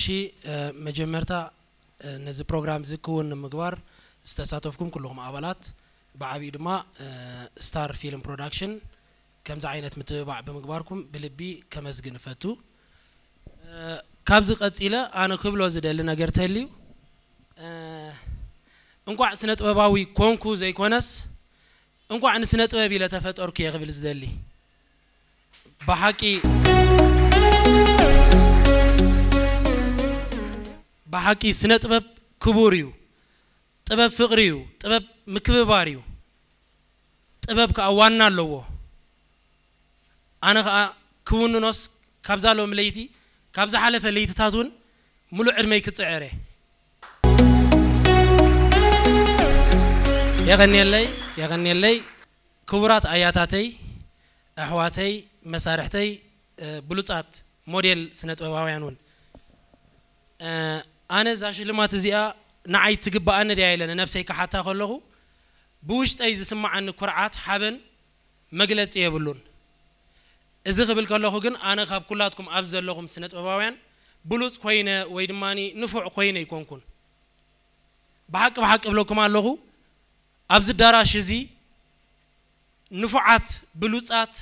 እሺ፣ መጀመርታ ነዚ ፕሮግራም እዚ ክውን ንምግባር ዝተሳተፍኩም ኩልኹም ኣባላት፣ ብዓብዩ ድማ ስታር ፊልም ፕሮዳክሽን ከምዚ ዓይነት ምትብባዕ ብምግባርኩም ብልቢ ከመስግን እፈቱ። ካብዚ ቀጺለ ኣነ ክብሎ ዝደሊ ነገር ተልዩ፣ እንቋዕ ስነ ጥበባዊ ኮንኩ ዘይኮነስ እንቋዕ ንስነ ጥበብ ኢለ ተፈጠርኩ እየ ክብል ዝደሊ። ብሓቂ ብሓቂ ስነ ጥበብ ክቡር እዩ። ጥበብ ፍቕሪ እዩ። ጥበብ ምክብባር እዩ። ጥበብ ከዓ ዋና ኣለዎ። ኣነ ከዓ ክውንኖስ ካብዛ ሎም ለይቲ ካብ ዝሓለፈ ለይትታት እውን ሙሉእ ዕድመይ ክፅዕር እየ። የቐንየለይ፣ የቐንየለይ። ክቡራት ኣያታተይ፣ ኣሕዋተይ፣ መሳርሕተይ፣ ብሉፃት ሞዴል ስነ ጥበባውያን እውን ኣነ እዛ ሽልማት እዚኣ ንዓይ ትግብኣኒ ድያ ኢለ ንነብሰይ ክሓታ ከለኹ ብውሽጠይ ዝስምዓኒ ኩርዓት ሓበን መግለፂ የብሉን። እዚ ክብል ከለኹ ግን ኣነ ካብ ኩላትኩም ኣብዚ ዘለኹም ስነ ጥበባውያን ብሉፅ ኮይነ ወይ ድማ ንፉዕ ኮይነ ኣይኮንኩን። ብሓቂ ብሓቂ እብለኩም ኣለኹ፣ ኣብዚ ዳራሽ እዚ ንፉዓት ብሉፃት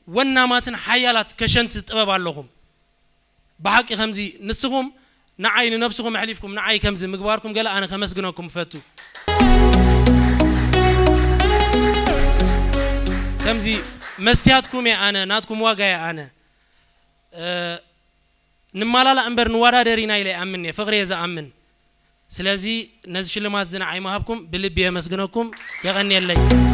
ወናማትን ሓያላት ከሸንቲ ጥበብ ኣለኹም። ብሓቂ ከምዚ ንስኹም ንዓይ ንነብስኹም ኣሕሊፍኩም ንዓይ ከምዚ ምግባርኩም ገለ ኣነ ከመስግነኩም እፈቱ። ከምዚ መስትያትኩም እየ ኣነ፣ ናትኩም ዋጋ እየ ኣነ። ንማላላእ እምበር ንወዳደር ኢና ኢለ ይኣምን እየ፣ ፍቕሪ እየ ዝኣምን። ስለዚ ነዚ ሽልማት እዚ ንዓይ ምሃብኩም ብልቢ የመስግነኩም። የቐንየለይ።